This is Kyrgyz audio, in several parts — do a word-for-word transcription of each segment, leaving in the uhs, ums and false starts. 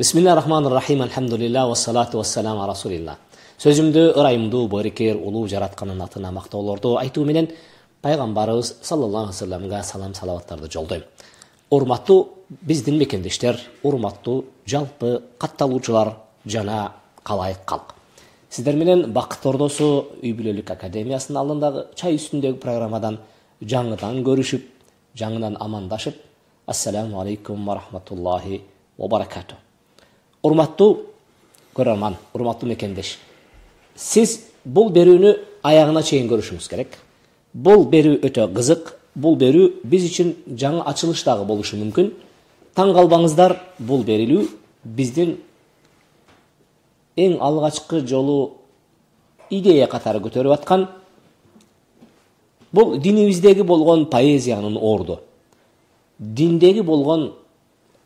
Бисмиллахир-рахманир-рахим. Алхамдулилlah ва салату ва салам ала расулилlah. Сөзүмдү ырайымдуу, барекер, улуу жаратканын атына мактоолорду айтуу менен пайгамбарыбыз саллаллаху алейхи ва салламга салам салаваттарды жолдойм. Урматтуу биздин мекендештер, урматтуу жалпы катталуучулар жана калайык калк. Сиздер менен Бакыт Ордосу үй бүлөлүк академиясынын алдындагы чай үстүндөгү программадан жаңыдан көрүшүп, жаңыдан амандашып, ассаламу алейкум ва рахматуллахи ва баракату. Урматтуу көрөрман, урматтуу мекендеш. Сиз бул берүүнү аягына чейин көрүшүңүз керек. Бул берүү өтө кызык. Бул берүү биз үчүн жаңы ачылыш дагы болушу мүмкүн. Таң калбаңыздар, бул берилүү биздин эң алгачкы жолу идея катары көтөрүп аткан бул динибиздеги болгон поэзиянын орду. Диндеги болгон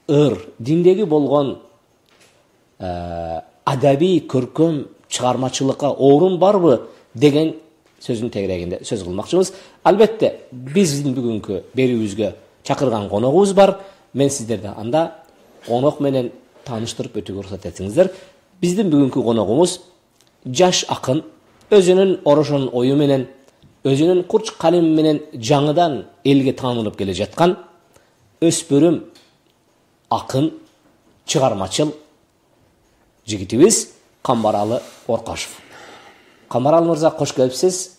ыр, диндеги болгон адаби көркөм чыгармачылыкка орун барбы деген сөзүн тегерегинде сөз кылмакчыбыз. Албетте, биздин бүгүнкү берүүбүзгө чакырган коногубуз бар. Мен сиздерди анда конок менен тааныштырып өтүүгө уруксат этсеңиздер. Биздин бүгүнкү коногубуз жаш акын, өзүнүн орошон ою менен, өзүнүн курч калеми менен жаңыдан элге таанылып келе жаткан өспүрүм акын, чыгармачыл жигитибиз Камбаралы Оркашев. Камбаралы мырза, кош келипсиз.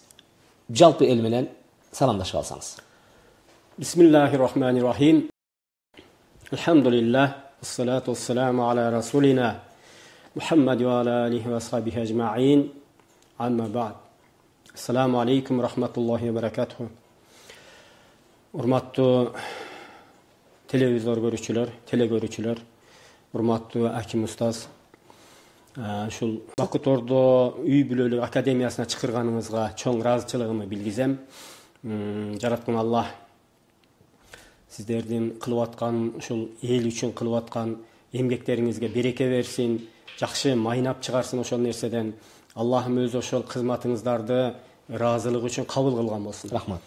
Жалпы эл менен саламдашып алсаңыз. Бисмиллахир-рахманир-рахим. Алхамдулилlah, ассалату вассаламу аля расулина Мухаммад ва аля алихи ва асхабихи ажмаин. Амма ба'д. Ассаламу алейкум рахматуллахи ва баракатуху. Урматтуу телевизор көрүүчүлөр, теле көрүүчүлөр, урматтуу аким устаз, ушул Бакыт Ордо үй бүлөлүк академиясына чакырганыңызга чоң ыраазычылыгымды билгизем. Жараткан Аллах сиздердин кылып аткан ушул эл үчүн кылып аткан эмгектериңизге береке берсин, жакшы майнап чыгарсын ошол нерседен. Аллахым өзү ошол кызматыңыздарды ыраазылыгы үчүн кабыл кылган болсун. Рахмат.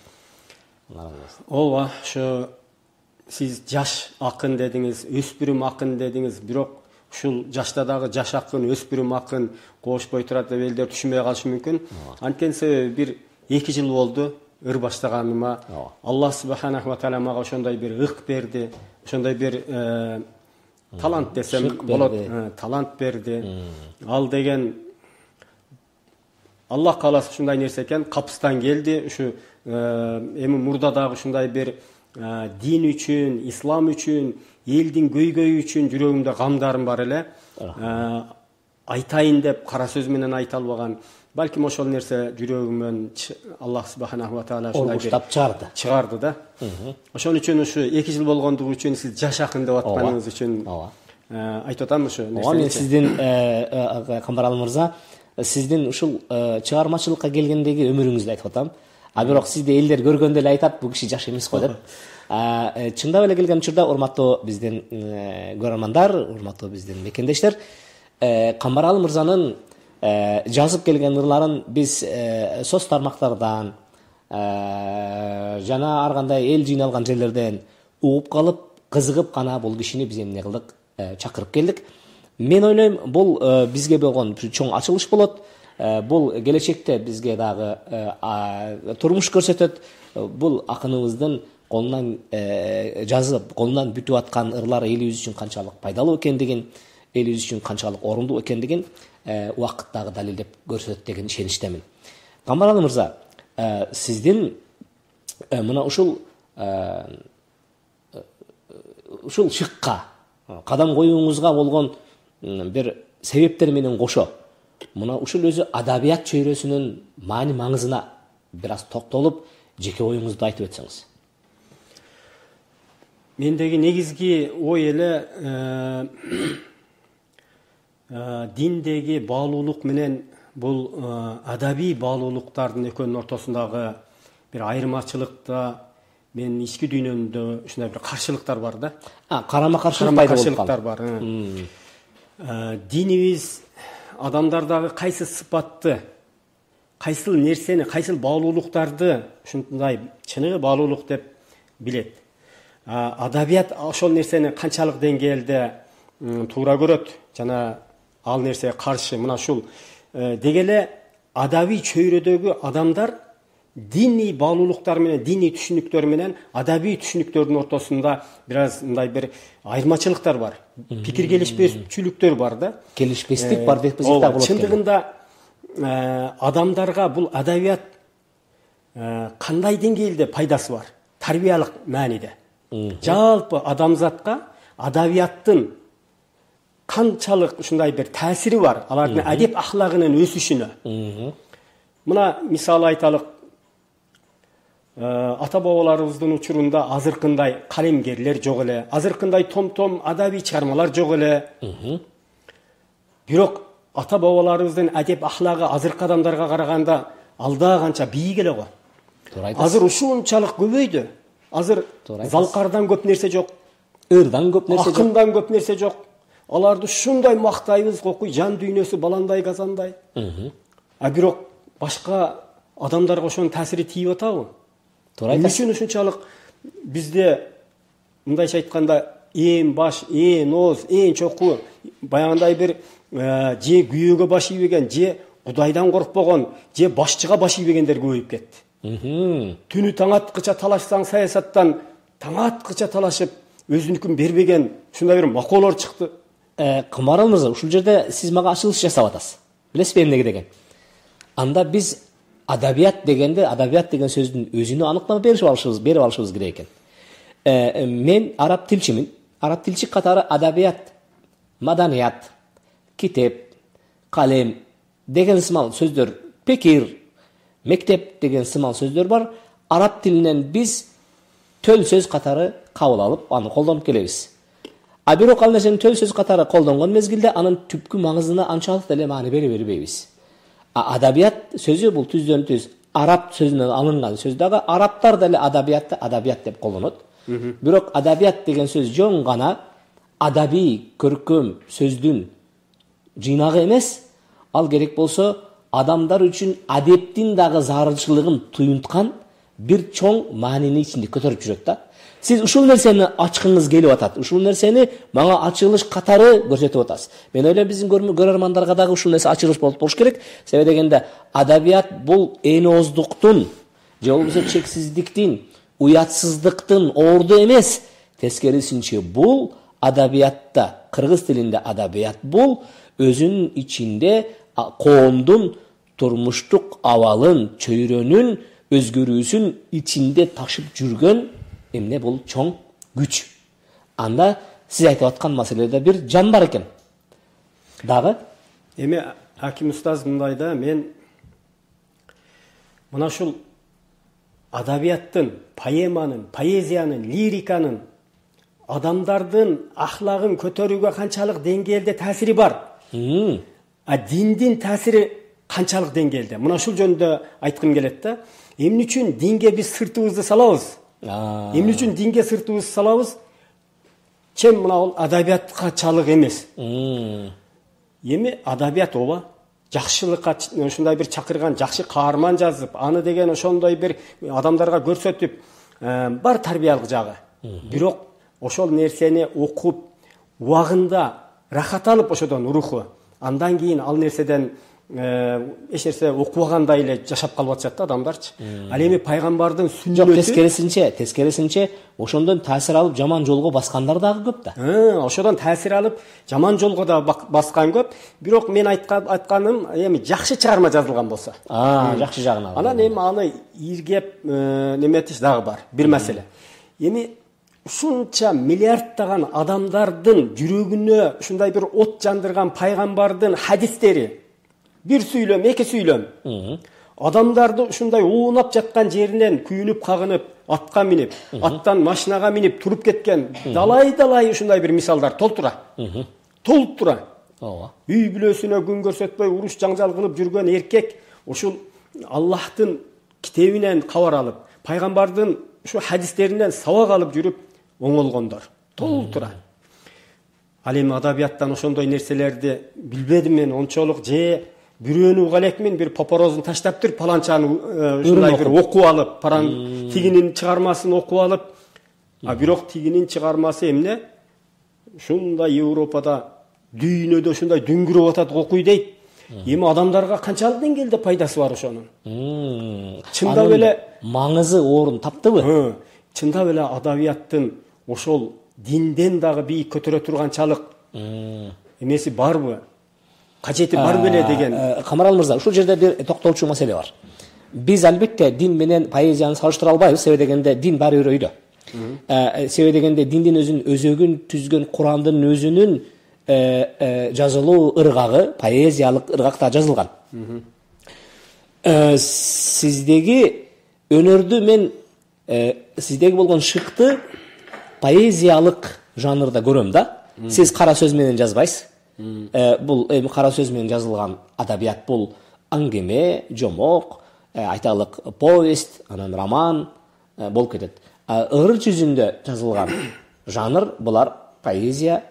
Ооба, ушу сиз жаш акын дедиңиз, өспүрүм акын дедиңиз, бирок ушул жашта дагы жаш акын, өспүрүм акын кошпой турат деп элдер түшүнбөй калышы мүмкүн. Анткени себеби бир эки жыл болду ыр баштаганыма. Аллах субханаху ва таала мага ошондой бир ык берди, ошондой бир талант десем болот, талант берди. Ал деген Аллах кааласа ушундай нерсе экен, капыстан келди. Ушу эми мурда дагы ушундай бир дин үчүн, ислам үчүн, элдин көйгөйү үчүн жүрөгүмдө камдарым бар эле. Айтайын деп кара сөз менен айта албаган. Балким ошол нерсе жүрөгүмөн Аллах субханаху ва таала ушундай бир чыгарды. Чыгарды да. Ошон үчүн ушу эки жыл болгондугу үчүн сиз жаш акын деп атканыңыз үчүн айтып атам ушу нерсени. Мен сиздин Камбаралы мырза, сиздин ушул чыгармачылыкка келгендеги өмүрүңүздү айтып атам. А бирок сизди элдер көргөндө эле айтат, бул киши жаш эмес го деп. Чындап эле келген учурда урматтуу биздин көрөрмандар, урматтуу биздин мекендештер, Камбаралы мырзанын жазып келген ырларын биз соц тармактардан жана ар кандай эл жыйналган жерлерден угуп калып, кызыгып гана бул кишини биз эмне кылдык, чакырып келдик. Мен ойлойм, бул бизге болгон чоң ачылыш болот. Бул келечекте бизге дагы турмуш көрсөтөт. Бул акыныбыздын колунан жазып, колунан бүтүп аткан ырлар элибиз үчүн канчалык пайдалуу экендигин, элибиз үчүн канчалык орундуу экендигин убакыт дагы далилдеп көрсөтөт деген ишеничтемин. Камбаралы мырза, сиздин мына ушул ушул шыкка кадам коюуңузга болгон бир себептер менен кошо, мына ушул өзү адабият чөйрөсүнүн маани маңызына бир аз токтолуп, жеке оюңузду айтып өтсөңүз. Мендеги негизги ой эле диндеги баалуулук менен бул адабий баалуулуктардын экөөнүн ортосундагы бир айырмачылыкта мен ички дүйнөмдө ушундай бир каршылыктар бар да. А, карама-каршылык пайда болуп каршылыктар бар. Динибиз адамдардагы кайсы сыпатты, кайсыл нерсени, кайсыл баалуулуктарды ушундай чыныгы баалуулук деп билет. Адабият ошол нерсени канчалык деңгээлде туура көрөт жана ал нерсеге каршы мына ушул деги эле адабий чөйрөдөгү адамдар диний баалуулуктар менен, диний түшүнүктөр менен адабий түшүнүктөрдүн ортосунда бир аз мындай бир айырмачылыктар бар. Пикир келишпестүүлүктөр бар да. Келишпестик бар деп десек да болот. Чындыгында адамдарга бул адабият кандай деңгээлде пайдасы бар? Тарбиялык мааниде. Жалпы адамзатка адабияттын канчалык ушундай бир таасири бар алардын адеп ахлагынын өсүшүнө. Мына мисалы айталык, ата бабаларыбыздын учурунда азыркындай калемгерлер жок эле, азыркындай том-том адабий чыгармалар жок эле. Бирок ата бабаларыбыздын адеп ахлагы азыркы адамдарга караганда алда канча бийик эле го. Азыр ушунчалык көбөйдү. Азыр залкардан көп нерсе жок, ырдан көп нерсе жок, акындан көп нерсе жок. Аларды ушундай мактайбыз, кокуй жан дүйнөсү баландай казандай. А бирок башка адамдарга ошонун таасири тийип атабы? Туура айтасыз. Үчүн ушунчалык бизде мындайча айтканда ээн баш, ээн ооз, ээн чоку баягындай бир же күйөөгө баш ийбеген, же Кудайдан коркпогон, же башчыга баш ийбегендер көбөйүп кетти. Түнү таң аткыча талашсаң саясаттан таң аткыча талашып өзүнүкүн бербеген ушундай бир макоолор чыкты. Кымарал мырза, ушул жерде сиз мага ачылыш жасап атасыз. Билесизби эмнеге деген? Анда биз адабият дегенде, адабият деген сөздүн өзүнө аныктама берип алышыбыз, берип алышыбыз керек экен. Э, мен араб тилчимин. Араб тилчи катары адабият, маданият, китеп, калем деген сымал сөздөр, пекир, мектеп деген сымал сөздөр бар. Араб тилинен биз төл сөз катары кабыл алып, аны колдонуп келебиз. А бирок ал нерсени төл сөз катары колдонгон мезгилде анын түпкү маңызына анчалык деле маани бере бербейбиз. А адабият сөзү бул түздөн түз араб сөзүнөн алынган сөз дагы, арабтар деле адабиятты адабият деп колдонот. Бирок адабият деген сөз жөн гана адабий көркөм сөздүн жыйнагы эмес, ал керек болсо адамдар үчүн адептин дагы зарылчылыгын туюнткан бир чоң маанини ичинде көтөрүп жүрөт да. Сиз ушул нерсени ачкыңыз келип атат. Ушул нерсени мага ачылыш катары көрсөтүп атасыз. Мен ойлойм биздин көрөрмандарга дагы ушул нерсе ачылыш болуп болуш керек. Себеби дегенде адабият бул энооздуктун же болбосо чексиздиктин, уятсыздыктын орду эмес. Тескерисинче бул адабиятта, кыргыз тилинде адабият бул өзүнүн ичинде коомдун турмуштук абалын, чөйрөнүн өзгөрүүсүн ичинде ташып жүргөн эмне бул чоң күч. Анда сиз айтып аткан маселеде бир жан бар экен. Дагы эми Аким устаз мындай да, мен мына ушул адабияттын, поэманын, поэзиянын, лириканын адамдардын ахлагын көтөрүүгө канчалык деңгээлде таасири бар. А диндин таасири канчалык деңгээлде? Мына ушул жөнүндө айткым келет да. Эмне үчүн динге биз сыртыбызды салабыз? Эмне үчүн динге сыртыбызды салабыз? Чем мына ол адабиятка чалык эмес. Эми адабият ооба жакшылыкка ушундай бир чакырган, жакшы каарман жазып, аны деген ошондой бир адамдарга көрсөтүп, бар тарбиялык жагы. Бирок ошол нерсени окуп, убагында рахат алып ошодон руху, андан кийин ал нерседен эч нерсе окубагандай эле жашап калып атышат да адамдарчы. Ал эми пайгамбардын сүннөтү жок, тескерисинче, тескерисинче ошондон таасир алып жаман жолго баскандар дагы көп да. Ошодон таасир алып жаман жолго да баскан көп. Бирок мен айтканым эми жакшы чыгарма жазылган болсо. А, жакшы жагын алып. Анан эми аны иргеп неметиш дагы бар. Бир маселе. Эми ушунча миллиардтаган адамдардын жүрөгүнө ушундай бир от жандырган пайгамбардын хадистери, бир сүйлөм, эки сүйлөм. Адамдарды ушундай уунап жаткан жеринен күйүнүп, кагынып, атка минип, аттан машинага минип туруп кеткен далай-далай ушундай бир мисалдар толтура. Толуп тура. Ооба. Үй бүлөсүнө күн көрсөтпөй уруш жаңжал кылып жүргөн эркек ушул Аллахтын китебинен кабар алып, пайгамбардын ушу хадистеринен сабак алып жүрүп оңолгондор. Толуп тура. Ал эми адабияттан ошондой нерселерди билбедим мен ончолук, же бирөөнү уга элекмин, бир попорозун таштап туруп паланчаны ушундай бир окуп алып, паран тигинин чыгармасын окуп алып, а бирок тигинин чыгармасы эмне? ушундай Европада дүйнөдө ушундай дүңгүрөп атат окуй дейт. Эми адамдарга канчалык деңгээлде пайдасы бар ошонун? Чындап эле маңызы орун таптыбы? Чындап эле адабияттын ошол динден дагы бийик көтөрө турганчалык эмеси барбы? Кажети бар беле деген. Камарал мырза, ушул жерде бир токтолчу маселе бар. Биз албетте дин менен поэзияны салыштыра албайбыз, себеби дегенде дин баары бир өйдө. Себеби дегенде диндин өзүнүн өзөгүн түзгөн Курандын өзүнүн жазылуу ыргагы, поэзиялык ыргакта жазылган. Сиздеги өнөрдү мен сиздеги болгон шыкты поэзиялык жанрда көрөм да. Сиз кара сөз менен жазбайсыз. Бул эми кара сөз менен жазылган адабият бул аңгеме, жомок, айталык повесть, анан роман болуп кетет. Ыр жүзүндө жазылган жанр булар поэзия,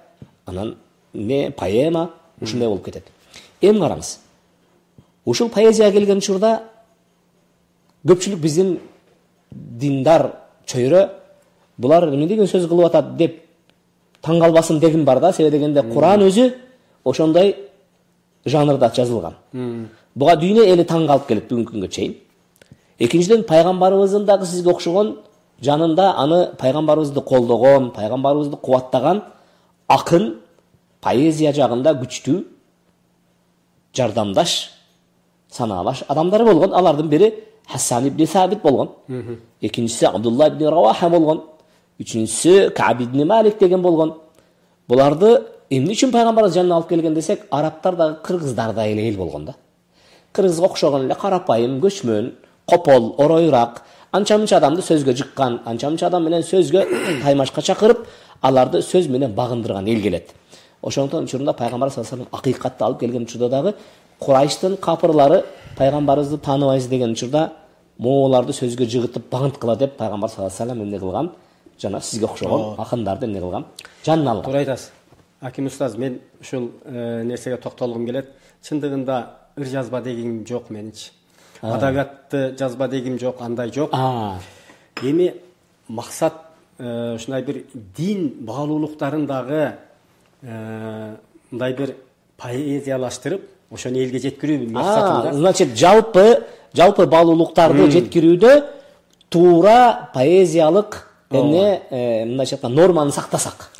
анан не поэма, ушундай болуп кетет. Эми караңыз. Ушул поэзияга келген учурда көпчүлүк биздин диндар чөйрө булар эмне деген сөз кылып атат деп таң калбасын дегим бар да, себеби дегенде Куран өзү ошондой жанрда жазылган. Буга дүйнө эли таң калып келет бүгүнкү күнгө чейин. Экинчиден, пайгамбарыбыздын дагы сизге окшогон жанында аны пайгамбарыбызды колдогон, пайгамбарыбызды кубаттаган акын, поэзия жагында күчтүү жардамдаш, санаалаш адамдары болгон. Алардын бири Хасан ибн Сабит болгон. Экинчиси Абдулла ибн Раваха болгон. Үчүнчүсү Каб ибн Малик деген болгон. Буларды эмне үчүн пайгамбарыбыз жанына алып келген десек, арабтар дагы кыргыздардай эле эл болгон да. Кыргызга окшогон эле карапайым, көчмөн, копол, оройраак, анча-мынча адамды сөзгө жыккан, анча-мынча адам менен сөзгө таймашка чакырып, аларды сөз менен багындырган эл келет. Ошондон учурунда пайгамбар саллаллаху алейхи вассалам акыйкатты алып келген учурда дагы Курайштын капырлары пайгамбарыбызды тааныбайсыз деген учурда мооларды сөзгө жыгытып багынткыла деп пайгамбар саллаллаху алейхи вассалам эмне кылган? Жана сизге окшогон акындарды эмне кылган? Жанына алган. Туура айтасыз. Аким устаз, мен ушул нерсеге токтолгум келет. Чындыгында ыр жазба дегим жок меничи. Адабиятты жазба дегим жок, андай жок. Эми максат ушундай бир дин баалуулуктарын дагы мындай бир поэзиялаштырып, ошону элге жеткирүү максатында. Значит, жалпы жалпы баалуулуктарды жеткирүүдө туура поэзиялык эмне мындайча айтканда норманы сактасак.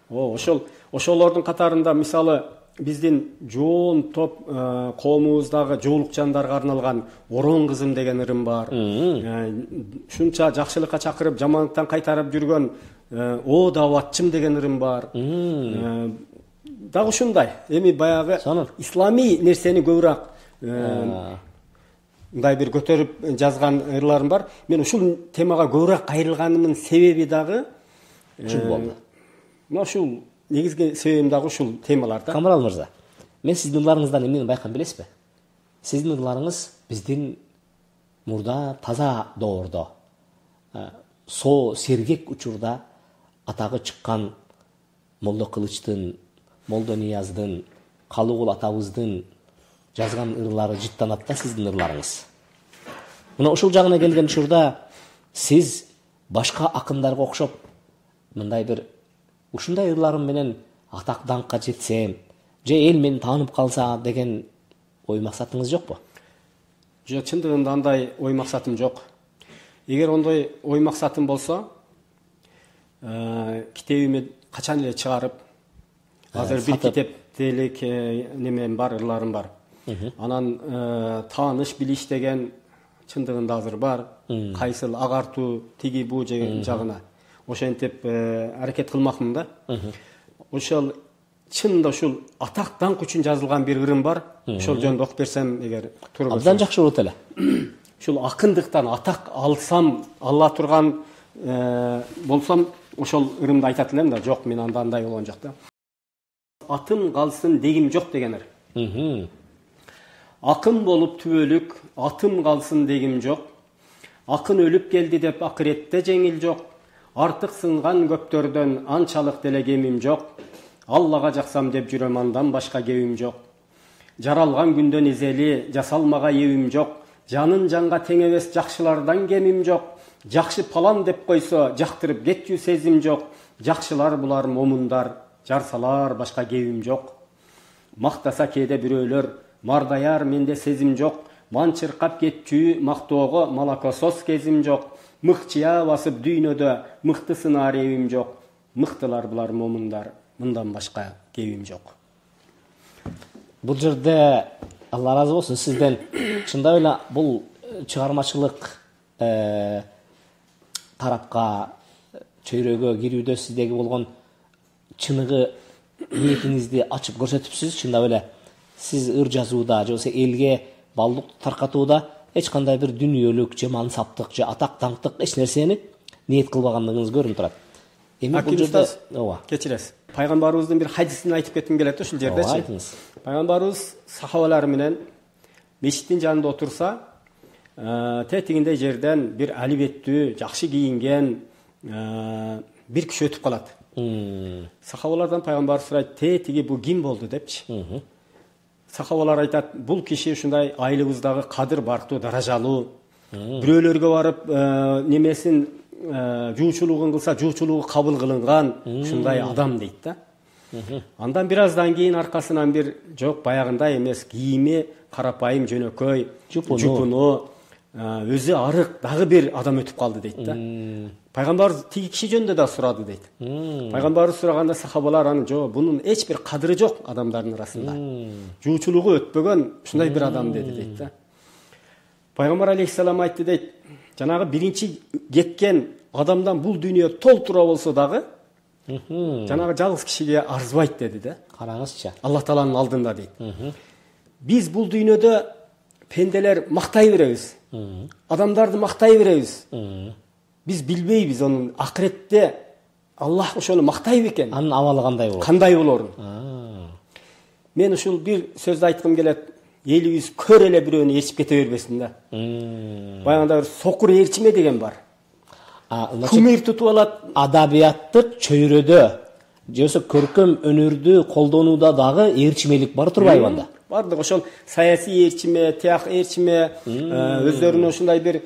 О, ошол ошолордун катарында мисалы биздин жоон топ коомубуздагы жоолук жандарга арналган Орон кызым деген ырым бар. Ушунча жакшылыкка чакырып, жамандыктан кайтарып жүргөн О даватчым деген ырым бар. Дагы ушундай. Эми баягы исламий нерсени көбүрөөк мындай бир көтөрүп жазган ырларым бар. Мен ушул темага көбүрөөк кайрылганымдын себеби дагы ушул болду. Мына ушул негизги себебим дагы ушул темаларда. Камарал мырза, мен сиздин ырларыңыздан эмнени байкаган билесизби? Сиздин ырларыңыз биздин мурда таза доордо, со сергек учурда атагы чыккан Молдо Кылычтын, Молдо Нияздын, Калыгул атабыздын жазган ырлары жыттанат да сиздин ырларыңыз. Мына ушул жагына келген учурда сиз башка акындарга окшоп мындай бир ушундай ырларым менен атак даңкка жетсем, же эл мени таанып калса деген ой максатыңыз жокпу? Жок, чындыгында андай ой максатым жок. Эгер ондой ой максатым болсо, китебими качан эле чыгарып, азыр бир китептелик немем бар, ырларым бар. Анан тааныш билиш деген чындыгында азыр бар. Кайсыл агартуу, тиги бу жагына. Ошентип аракет кылмакмын да. Ошол чынында ушул атак даңк үчүн жазылган бир ырым бар. Ошол жөнүндө окуп берсем эгер туура болсо. Абдан жакшы болот эле. Ушул акындыктан атак алсам, ала турган болсом, ошол ырымды айтат элем да. Жок, мен анда андай болгон жок да. Атым калсын дегим жок деген ыр. Акын болуп түбөлүк, атым калсын дегим жок. Акын өлүп келди деп акыретте жеңил жок. Артык сынган көптөрдөн анчалык деле кемим жок. Аллага жаксам деп жүрөм, андан башка кебим жок. Жаралган күндөн изели, жасалмага эбим жок. Жанын жанга тең эмес жакшылардан кемим жок. Жакшы палан деп койсо, жактырып кетчү сезим жок. Жакшылар булар момундар, жар салар башка кебим жок. Мактаса кээде бирөөлөр, мардаяр менде сезим жок. Ман чыркап кетчү мактоого малакосос кезим жок. Мыкчыя басып дүйнөдө мыктысын аребим жок. Мыктылар булар момундар, мындан башка кебим жок. Бул жерде Алла разы болсун сизден чындап эле бул чыгармачылык тарапка чөйрөгө кирүүдө сиздеги болгон чыныгы ниетиңизди ачып көрсөтүпсүз. Чындап эле сиз ыр жазууда же болбосо элге балдык таркатууда эч кандай бир дүнүйөлүк же мансаптык же атак даңктык эч нерсени ниет кылбагандыгыңыз көрүнүп турат. Эми бул жерде ооба кечиресиз. Пайгамбарыбыздын бир хадисин айтып кетким келет ушул жердечи. Айтыңыз. Пайгамбарыбыз сахабалары менен мешиттин жанында отурса, тетигинде жерден бир алибеттүү, жакшы кийинген бир киши өтүп калат. Сахабалардан пайгамбар сурайт, тетиги бул ким болду депчи. Сахабалар айтат, бул киши ушундай айылыбыздагы кадыр барктуу, даражалуу. Бирөөлөргө барып немесин жуучулугун кылса, жуучулугу кабыл кылынган ушундай адам дейт да. Андан бир аздан кийин аркасынан бир жок баягындай эмес, кийими карапайым жөнөкөй, жупуну, өзү арык дагы бир адам өтүп калды дейт да. Пайгамбар тиги киши жөнүндө да сурады дейт. Пайгамбар сураганда сахабалар аны жок, бунун эч бир кадыры жок адамдардын арасында. Жуучулугу өтпөгөн ушундай бир адам деди дейт да. Пайгамбар алейхиссалам айтты дейт, жанагы биринчи кеткен адамдан бул дүйнө толтура болсо дагы жанагы жалгыз кишиге арзыбайт деди да. Караңызчы. Аллах Тааланын алдында дейт. Биз бул дүйнөдө пенделер мактай беребиз. Адамдарды мактай беребиз. Биз билбейбиз анын акыретте Аллах ошону мактайбы экен. Анын абалы кандай болот? Кандай болорун? Мен ушул бир сөздү айткым келет. Элибиз көр эле бирөөнү ээрчип кете бербесин да. Баягында бир сокур ээрчиме деген бар. Кумир тутуп алат. Адабияттык чөйрөдө же болбосо көркөм өнөрдү колдонууда дагы ээрчимелик бар турбайбы анда? Бардык ошол саясий ээрчиме, тияк ээрчиме, өздөрүнө ушундай бир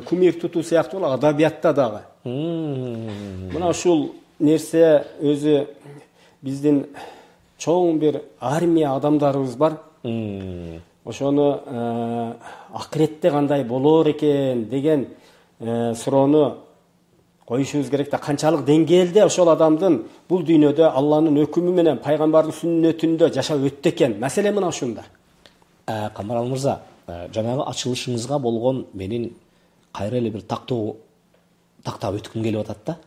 кумир тутуу сыяктуу адабиятта дагы. Мына ушул нерсе өзү биздин чоң бир армия адамдарыбыз бар. Ошону акыретте кандай болор экен деген суроону коюшубуз керек да. Канчалык деңгээлде ошол адамдын бул дүйнөдө Алланын өкүмү менен пайгамбардын сүннөтүндө жашап өттү экен. Маселе мына ушунда. Камарал мырза, жанагы ачылышыңызга болгон менин кайра эле бир тактоо тактап өткүм келип атат да.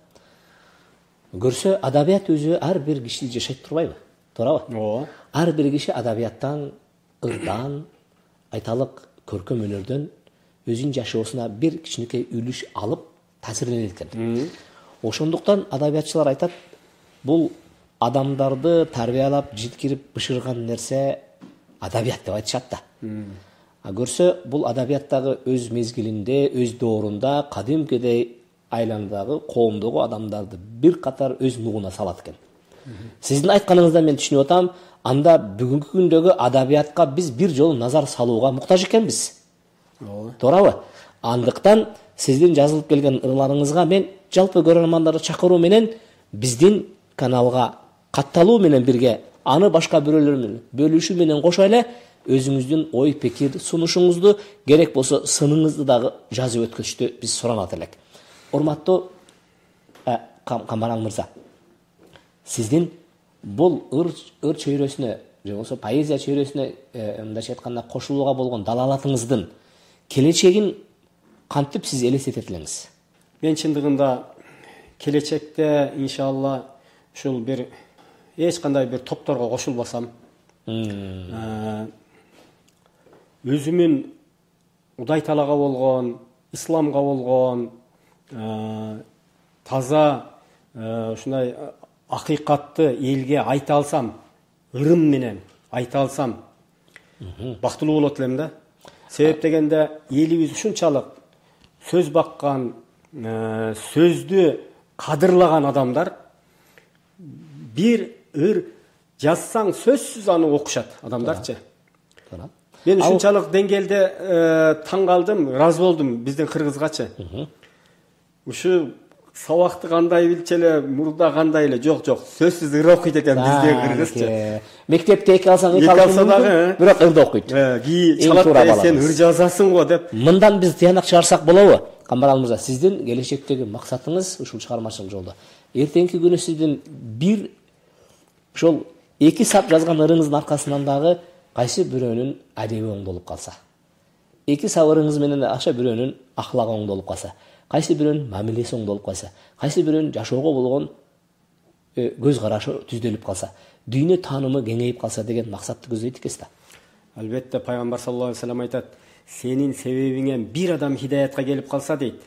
Көрсө, адабият өзү ар бир киши жашайт турбайбы? Туурабы? Ооба. Ар бир киши адабияттан, ырдан, айталык көркөм өнөрдөн өзүнүн жашоосуна бир кичинекей үлүш алып таасирленет экен. Ошондуктан адабиятчылар айтат, бул адамдарды тарбиялап, житкирип, бышырган нерсе адабият деп айтышат да. А көрсө, бул адабияттагы өз мезгилинде, өз доорунда кадимкидей айландагы коомдогу адамдарды бир катар өз нугуна салат экен. Сиздин айтканыңыздан мен түшүнүп атам, анда бүгүнкү күндөгү адабиятка биз бир жолу назар салууга муктаж экенбиз. Ооба. Туурабы? Андыктан сиздин жазылып келген ырларыңызга мен жалпы көрөрмандарды чакыруу менен биздин каналга катталуу менен бирге аны башка бирөөлөр менен бөлүшүү менен кошо эле өзүңүздүн ой пикир сунушуңузду, керек болсо сыныңызды дагы жазып өткөзүштү биз суранат элек. Урматтуу Камарал мырза, сиздин бул ыр ыр чөйрөсүнө же болбосо поэзия чөйрөсүнө мындайча айтканда кошулууга болгон далалатыңыздын келечегин кантип сиз элестетет элеңиз? Мен чындыгында келечекте иншалла ушул бир эч кандай бир топторго кошулбасам, өзүмүн Кудай Таалага болгон, исламга болгон таза ушундай акыйкатты элге айта алсам, ырым менен айта алсам, бактылуу болот элем да. Себеп дегенде элибиз ушунчалык сөз баккан, сөздү кадырлаган адамдар, бир ыр жазсаң сөзсүз аны окушат адамдарчы. Мен ушунчалык деңгээлде таң калдым, ыраазы болдум биздин кыргызгачы. Ушу сабакты кандай билчү эле, мурда кандай эле, жок жок, сөзсүз ыр окуйт экен бизде кыргызча. Мектепте эки алсаң эки алсаң дагы, бирок ырды окуйт. Ки чалат, сен ыр жазасың го деп. Мындан биз тыянак чыгарсак болобу? Камбарал мырза, сиздин келечектеги максатыңыз ушул чыгармачылык жолдо. Эртеңки күнү сиздин бир ошол эки сап жазган ырыңыздын аркасынан дагы кайсы бирөөнүн адеби оңдолуп калса, эки сап ырыңыз менен аша бирөөнүн ахлагы оңдолуп калса, кайсы бирөөнүн мамилеси оңдолуп калса, кайсы бирөөнүн жашоого болгон көз карашы түздөлүп калса, дүйнө таанымы кеңейип калса деген максатты көздөйт экенсиз да. Албетте, пайгамбар саллаллаху алейхи ва саллям айтат: сенин себебиңен бир адам хидаятка келип калса дейт.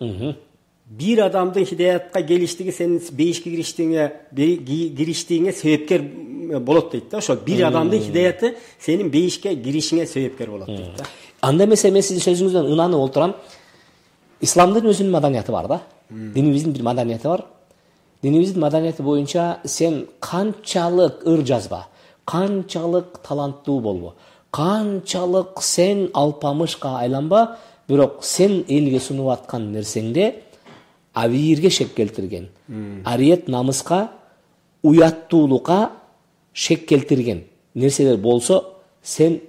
Бир адамдын хидаятка келиштиги сенин бейишке кириштигиңе кириштигиңе себепкер болот дейт да. Ошо бир адамдын хидаяты сенин бейишке киришиңе себепкер болот дейт да. Анда эмесе мен сиздин сөзүңүздөн ынанып олтурам. Исламдын өзүнүн маданияты бар да. Динибиздин бир маданияты бар. Динибиздин маданияты боюнча сен канчалык ыр жазба, канчалык таланттуу болбо, канчалык сен алпамышка айланба, бирок сен элге сунуп аткан нерсеңде абийирге шек келтирген, ариет намыска, уяттуулукка шек келтирген нерселер болсо, сен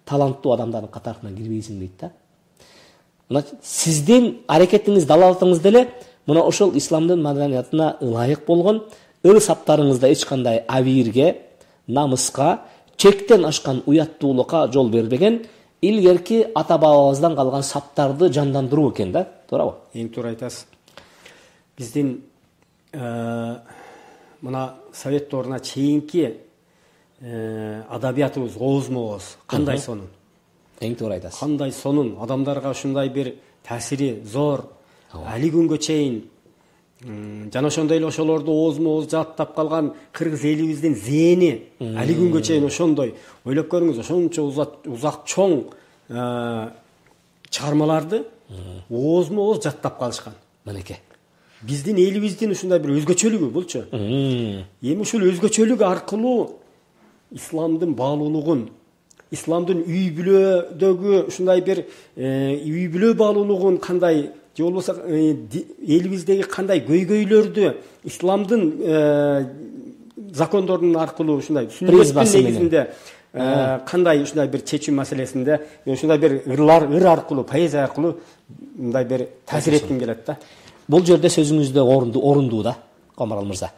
таланттуу адамдардын катарына кирбейсиң дейт да. Сиздин аракетиңиз, далалатыңыз деле мына ошол исламдын маданиятына ылайык болгон ыр саптарыңызда эч кандай абийирге, намыска, чектен ашкан уяттуулукка жол бербеген, илгерки ата бабабыздан калган саптарды жандандыруу экен да, туурабы? Эң туура айтасыз. Биздин мына совет дооруна чейинки адабиятыбыз оозмо-ооз кандай сонун? Эң туура айтасыз. Кандай сонун, адамдарга ушундай бир таасири зор. Али күнгө чейин жана ошондой эле ошолорду оозмо-ооз жааттап калган кыргыз элибиздин зээни али күнгө чейин ошондой. Ойлоп көрүңүз, ошончо узак чоң чыгармаларды оозмо-ооз жаттап калышкан. Мынеке. Биздин элибиздин ушундай бир өзгөчөлүгү булчу. Эми ушул өзгөчөлүк аркылуу исламдын баалуулугун, исламдын үй бүлөдөгү ушундай бир үй бүлө баалуулугун кандай, же болбосо элибиздеги кандай көйгөйлөрдү исламдын закондорунун аркылуу ушундай сүннөттүн негизинде кандай ушундай бир чечүү маселесинде ушундай бир ырлар, ыр аркылуу, поэзия аркылуу мындай бир таасир этким келет да. Бул жерде сөзүңүздө орундуу да, Камбарал мырза.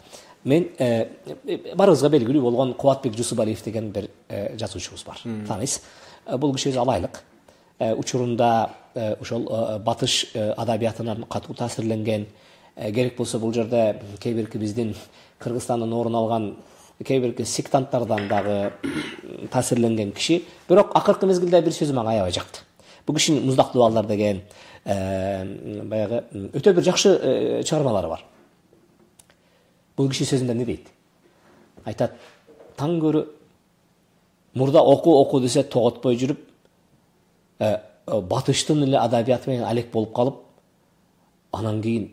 Мен барыбызга белгилүү болгон Кубатбек Жусупалиев деген бир жазуучубуз бар. Тааныйсыз. Бул киши өзү алайлык. Учурунда ошол батыш адабиятынан катуу таасирленген, керек болсо бул жерде кээ бирки биздин Кыргызстандын орун алган кээ бирки сектанттардан дагы таасирленген киши, бирок акыркы мезгилде бир сөзү мага аябай жакты. Бул кишинин Муздактуу балдар деген баягы өтө бир жакшы чыгармалары бар. Бул киши сөзүндө эмне дейт? Айтат: таң көрү мурда оку оку десе тоготпой жүрүп, батыштын эле адабияты менен алек болуп калып, анан кийин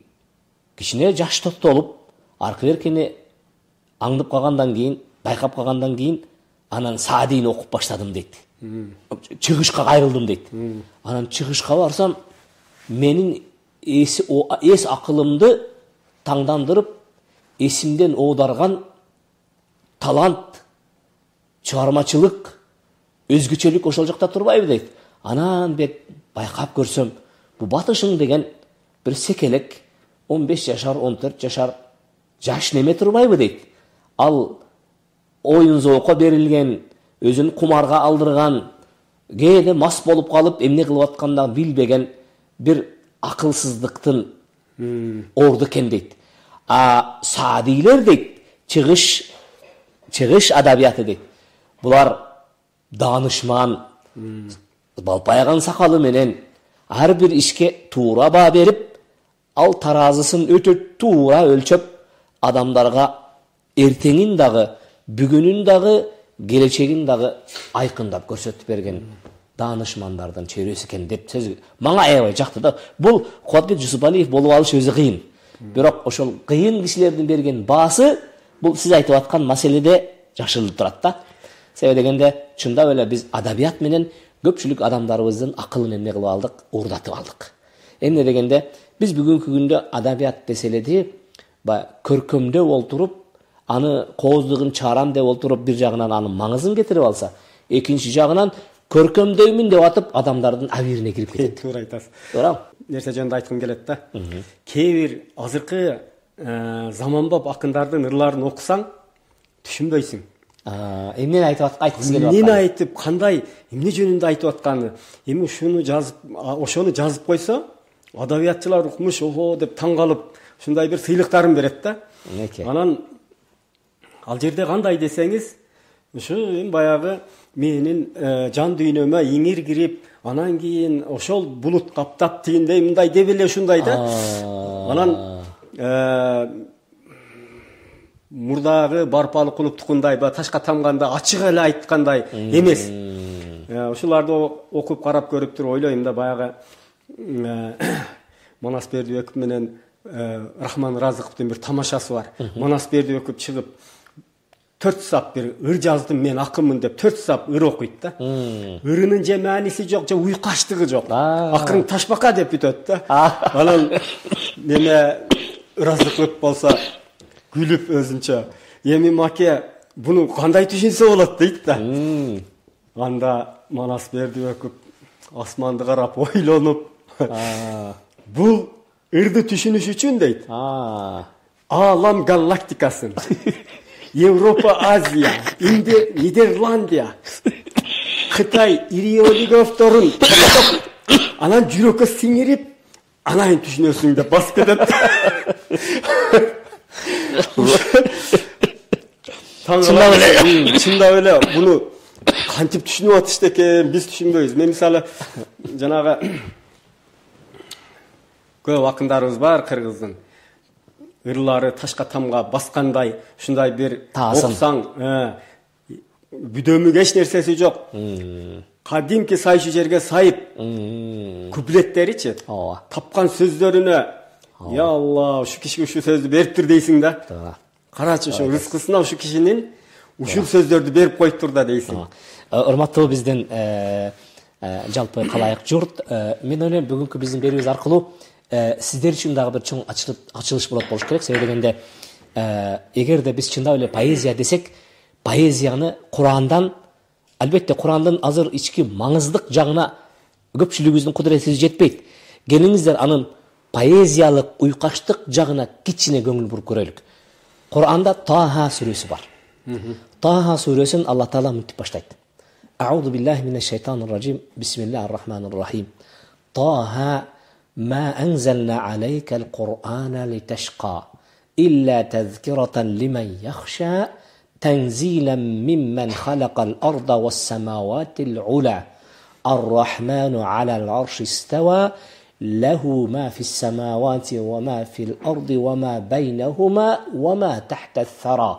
кичине жаш топтолуп, аркы беркени аңдып калгандан кийин, байкап калгандан кийин, анан Саадийни окуп баштадым дейт. Чыгышка кайрылдым дейт. Анан чыгышка барсам, менин эс акылымды таңдандырып, эсимден оодарган талант, чыгармачылык, өзгөчөлүк ошол жакта турбайбы дейт. Анан бек байкап көрсөм, бу батышың деген бир секелек он беш жашар, он төрт жашар жаш неме турбайбы дейт. Ал оюн зоокко берилген, өзүн кумарга алдырган, кээде мас болуп калып, эмне кылып атканын билбеген бир акылсыздыктын орду экен дейт. А Саадилер дейт, чыгыш чыгыш адабияты дейт. Булар даанышман, балпайган сакалы менен ар бир ишке туура баа берип, ал таразысын өтө туура өлчөп, адамдарга эртеңин дагы, бүгүнүн дагы, келечегин дагы айкындап көрсөтүп берген даанышмандардын чөйрөсү экен деп сөз мага аябай жакты да. Бул Кубатбек Жусупалиев болуп алыш өзү кыйын. Бирок ошол кыйын кишилердин берген баасы бул сиз айтып аткан маселеде жашырылып турат да. Себеби дегенде чындап эле биз адабият менен көпчүлүк адамдарыбыздын акылын эмне кылып алдык, уурдатып алдык. Эмне дегенде Биз бүгүнкү күндө адабият деселеди, баягы көркөмдөп олтуруп, аны кооздугун чыгарам деп олтуруп, бир жагынан анын маңызын кетирип алса, экинчи жагынан көркөмдөймүн деп атып адамдардын абийирине кирип кетет. Туура айтасыз. Туура. Нерсе жөнүндө айткым келет да. Кээ бир азыркы заманбап акындардын ырларын окусаң, түшүнбөйсүң. Эмнени айтып айткысы келип атканы? Эмнени айтып, кандай, эмне жөнүндө айтып атканы? Эми ушуну жазып, ошону жазып койсо, адабиятчылар укмуш, ого деп таң калып, ушундай бир сыйлыктарын берет да. Анан ал жерде кандай десеңиз, ушу эми баягы менин жан дүйнөмө иңир кирип, анан кийин ошол булут каптап тигиндей мындай деп эле ушундай да. Анан мурдагы барпалы кулуптукундай ба ташка тамганда ачык эле айткандай эмес. Ушуларды окуп карап көрүп туруп ойлойм да, баягы Манас Бердибеков менен Рахман Разыковдун бир тамашасы бар. Манас Бердибеков чыгып төрт сап бир ыр жаздым, мен акынмын деп төрт сап ыр окуйт да. Ырынын же мааниси жок, же уйкаштыгы жок. Акырын ташбака деп бүтөт да. Анан неме Разыков болсо күлүп өзүнчө, эми маке буну кандай түшүнсө болот дейт да. Анда Манас Бердибеков асманды карап ойлонуп, бул ырды түшүнүш үчүн дейт. Алам галактикасын, Европа, Азия, Нидерландия, Кытай иероглифтерин анан жүрөккө сиңирип, анан түшүнөсүң деп басып кетет. Чындап эле, чындап эле буну кантип түшүнүп атышты экен, биз түшүнбөйбүз. Мен мисалы жанагы көп акындарыбыз бар кыргыздын. Ырлары ташка тамга баскандай, ушундай бир оксаң, бүдөмүк эч нерсеси жок. Кадимки сайшы жерге сайып, куплеттеричи, тапкан сөздөрүнө, я Алла, ушу кишиге ушу сөздү бериптир дейсиң да. Карачы, ушу рызкысына ушу кишинин ушул сөздөрдү берип коюптур да дейсиң. Урматтуу биздин жалпы калайык журт, мен ойлойм бүгүнкү биздин берүүбүз аркылуу сиздер үчүн дагы бир чоң ачылыш болот болуш керек. Себеби дегенде, эгерде биз чындап эле поэзия десек, поэзияны Курандан, албетте Курандын азыр ички маңыздык жагына көпчүлүгүбүздүн кудурети жетпейт. Келиңиздер анын поэзиялык уйкаштык жагына кичине көңүл буруп көрөлүк. Куранда Таха сүрөсү бар. Таха сүрөсүн Алла Таала мынтип баштайт. Аузу биллахи минеш шайтанир ражим. Бисмиллахир рахманир рахим. Таха ма анзална алейкал Кур'ана литашқа илля тазкирatan liman yakhsha tanzilan mimman khalaqal arda was samawati al-ula ar-rahmanu 'ala al-'arshi istawa lahu ma fis samawati wa ma fil ardi wa ma baynahuma wa ma tahta ath-thara.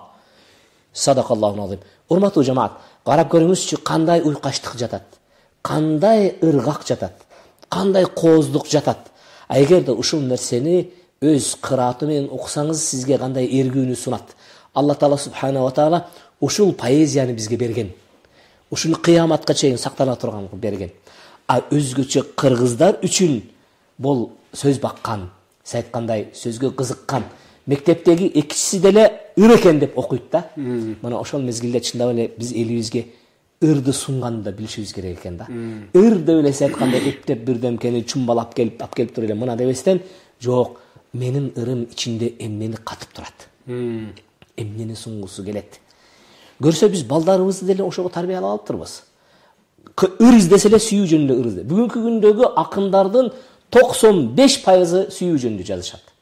Sadaqallahu azim. Урматтуу жамаат, карап көрүңүзчү, кандай уйкаштык жатат, кандай ыргак жатат, кандай кооздук жатат. А эгерде ушул нерсени өз кырааты менен окусаңыз, сизге кандай эргүүнү сунат. Алла Таала субхана ва таала ушул поэзияны бизге берген. Ушуну кыяматка чейин сактана турган берген. А өзгөчө кыргыздар үчүн бул сөз баккан, сиз айткандай сөзгө кызыккан, мектептеги экичиси деле ыр экен деп окуйт да. Мына ошол мезгилде чындап эле биз элибизге ырды сунганды да билишибиз керек экен да. Ыр деп эле сиз айткандай эптеп бирдемкени чумбалап келип, алып келип туруп эле мына дебестен, жок, менин ырым ичинде эмнени катып турат. Эмнени сунгусу келет. Көрсө биз балдарыбызды деле ошого тарбиялап алыптырбыз. Ыр издесе эле сүйүү жөнүндө ыр изде. Бүгүнкү күндөгү акындардын токсон беш пайызы сүйүү жөнүндө жазышат.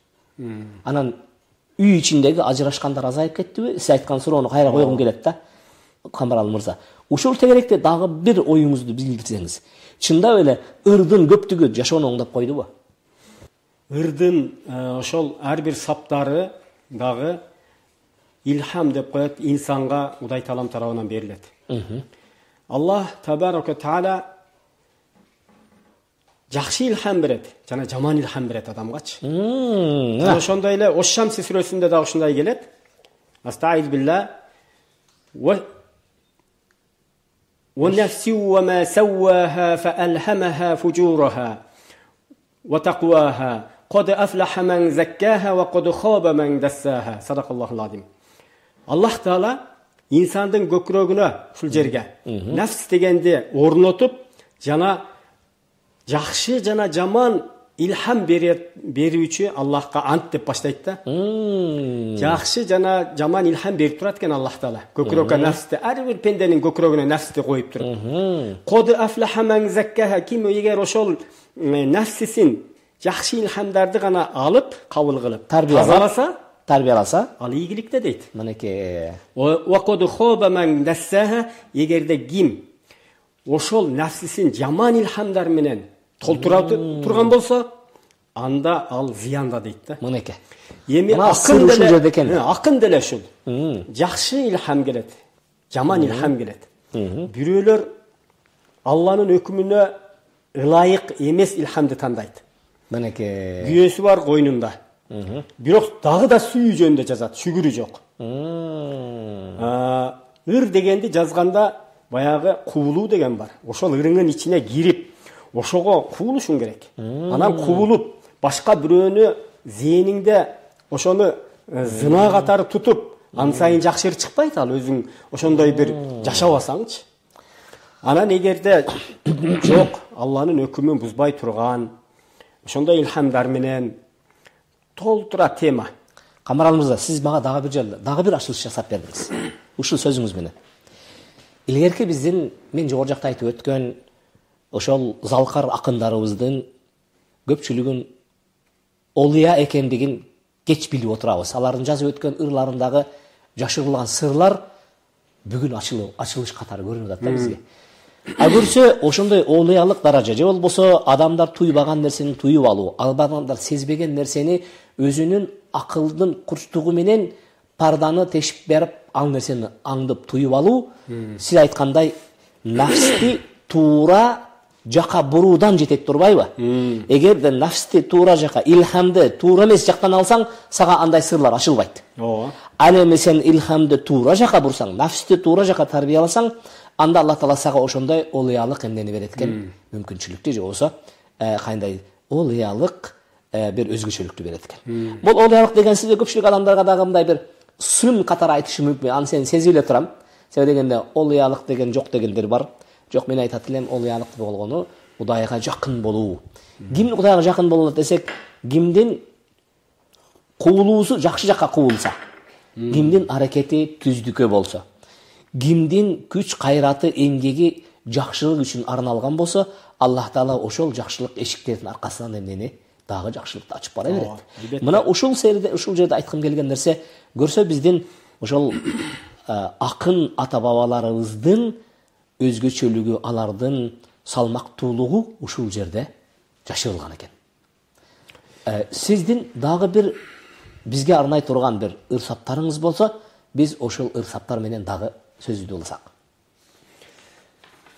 Анан үй ичиндеги ажырашкандар азайып кеттиби? Сиз айткан суроону кайра койгум келет да. Камбарал мырза. Ушул тегеректе дагы бир оюңузду билдирсеңиз. Чындап эле ырдын көптүгү жашоону оңдоп койдубу? Ырдын ошол ар бир саптары дагы илхам деп коет, инсанга Кудай Таалам тарабынан берилет. Аллах табарака таала жакшы илхам берет, жана жаман илхам берет адамгачы. Жана ошондой эле Ош-Шамси сүрөсүндө дагы ушундай келет. Астаиз билла ва ونفس وما سواها فألهمها فجورها وتقواها Qad aflaha man zakkaha wa qad khaba man dassaha. Sadaqallohul azim. Аллах Таала инсандын көкүрөгүнө ушул жерге нафс дегенди орнотуп, жана жакшы жана жаман илхам берүүчү Аллахка ант деп баштайт да. Жакшы жана жаман илхам берип турат экен Аллах Таала. Көкүрөккө нафсти, ар бир пенденин көкүрөгүнө нафсти коюп турат. Qad aflaha man zakkaha, ким эгер ошол нафсисин жакшы илхамдарды гана алып, кабыл кылып, тазаласа, тарбияласа, ал ийгиликте дейт. Мынеке. Wa qad khaba man dassaha, эгерде ким ошол нафсисин жаман илхамдар менен толтура турган болсо, анда ал зыянда дейт да. Мынеке. Эми акын деле, акын деле ушул. Жакшы илхам келет, жаман илхам келет. Бирөөлөр Алланын өкүмүнө ылайык эмес илхамды тандайт. Мынеке. Күйөөсү бар койнунда. Бирок дагы да сүйүү жөнүндө жазат, шүгүрү жок. Ыр дегенди жазганда баягы куулуу деген бар. Ошол ырыңын ичине кирип, ошого куулушуң керек. Анан куулуп, башка бирөөнү зээниңде ошону зына катары тутуп, ан сайын жакшырып чыкпайт ал өзүң ошондой бир жашабасаңчы. Анан эгерде жок, Алланын өкүмүн бузбай турган, ошондой илхамдар менен толтура тема. Камарал мырза, сиз мага дагы бир жолу, дагы бир ачылыш жасап бердиңиз. Ушул сөзүңүз менен. Илгерки биздин, мен жогору жакта айтып өткөн ошол залкар акындарыбыздын көпчүлүгүн олия экендигин кеч билип отурабыз. Алардын жазып өткөн ырларындагы жашырылган сырлар бүгүн ачылып, ачылыш катары көрүнүп атат да бизге. А көрсө ошондой олиялык даража, же болбосо адамдар туйбаган нерсени туюп алуу, адамдар сезбеген нерсени өзүнүн акылдын курчтугу менен парданы тешип берип, ал нерсени аңдып туюп алуу, сиз айткандай нафсти туура жака буруудан жетет турбайбы? Эгерде нафсти туура жака, илхамды туура эмес жактан алсаң, сага андай сырлар ачылбайт. Ооба. Ал эми сен илхамды туура жака бурсаң, нафсти туура жака тарбияласаң, анда Аллах Таала сага ошондой олиялык эмнени берет экен, мүмкүнчүлүктү, же болбосо кандай олиялык бир өзгөчөлүктү берет экен. Бул олиялык деген сизде көпчүлүк адамдарга дагы мындай бир сын катары айтышы мүмкүн. Аны сен сезип эле турам. Себеби дегенде олиялык деген жок дегендер бар. Жок, мен айтат элем, олиялык болгону Кудайга жакын болуу. Ким Кудайга жакын болот десек, кимдин куулуусу жакшы жакка куулса, кимдин аракети түздүккө болсо, кимдин күч кайраты, эмгеги жакшылык үчүн арналган болсо, Аллах Таала ошол жакшылык эшиктердин аркасынан эмнени дагы жакшылыкты ачып бара берет. Мына ушул жерде, ушул жерде айткым келген нерсе, көрсө биздин ошол акын ата бабаларыбыздын өзгөчөлүгү, алардын салмактуулугу ушул жерде жашырылган экен. Сиздин дагы бир бизге арнай турган бир ырсаптарыңыз болсо, биз ошол ырсаптар менен дагы сөзүдү уласак.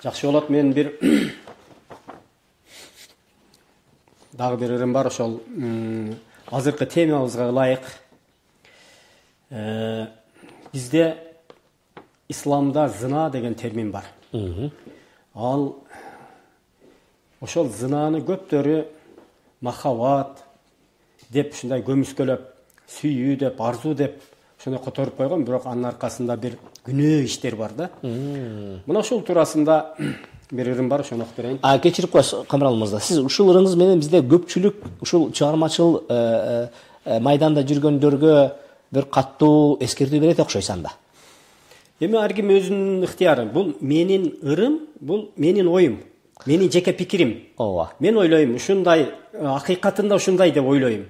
Жакшы болот. Мен бир дагы бир ырым бар, ошол азыркы темабызга ылайык. Бизде исламда зына деген термин бар. Ал ошол зынаны көптөрү махаббат деп, ушундай көмүскөлөп, сүйүү деп, арзуу деп ошону которуп койгон, бирок анын аркасында бир күнөө иштер бар да. Мына ушул туурасында бир ырым бар, ошону окуп берейин. А кечирип коесуз Камрал мырза, сиз ушул ырыңыз менен бизде көпчүлүк ушул чыгармачыл майданда жүргөндөргө бир каттуу эскертүү берет окшойт анда. Эми ар ким өзүнүн ыктыяры. Бул менин ырым, бул менин оюм, менин жеке пикирим. Ооба. Мен ойлойм, ушундай, акыйкатында ушундай деп ойлойм.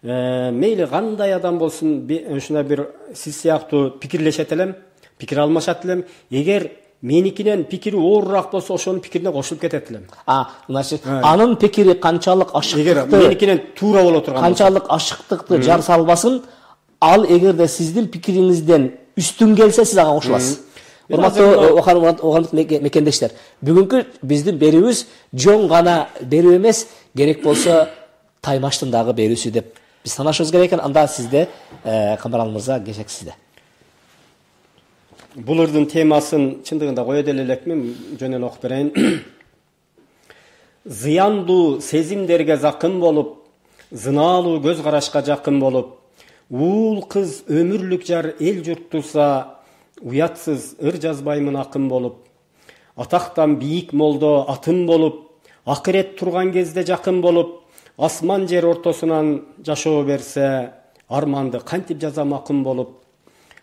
Мейли кандай адам болсун, ушундай бир сиз сыяктуу пикирлешет элем, пикир алмашат элем. Эгер меникинен пикири оорураак болсо, ошонун пикирине кошулуп кетет элем. А, значит, анын пикири канчалык ашыктыкты, эгер меникинен туура боло турган болсо, канчалык ашыктыкты жар салбасын, ал эгерде сиздин пикириңизден үстүн келсе, сиз ага кошуласыз. Урматтуу огандык мекендештер, бүгүнкү биздин берүүбүз жон гана берүү эмес, керек болсо таймаштын дагы берүүсү деп биз санашыбыз керек экен. Анда сизде, Камарал мырза, кечек сизде. Бул ырдын темасын чындыгында кое деле элекмин, жөн эле окуп берейин. Зыяндуу сезимдерге закын болуп, зынаалуу көз карашка жакын болуп, уул кыз өмүрлүк жар эл журт турса, уятсыз ыр жазбаймын акын болуп, атактан бийик молдо атын болуп, акырет турган кезде жакын болуп, асман жер ортосунан жашоо берсе, арманды кантип жазам акын болуп,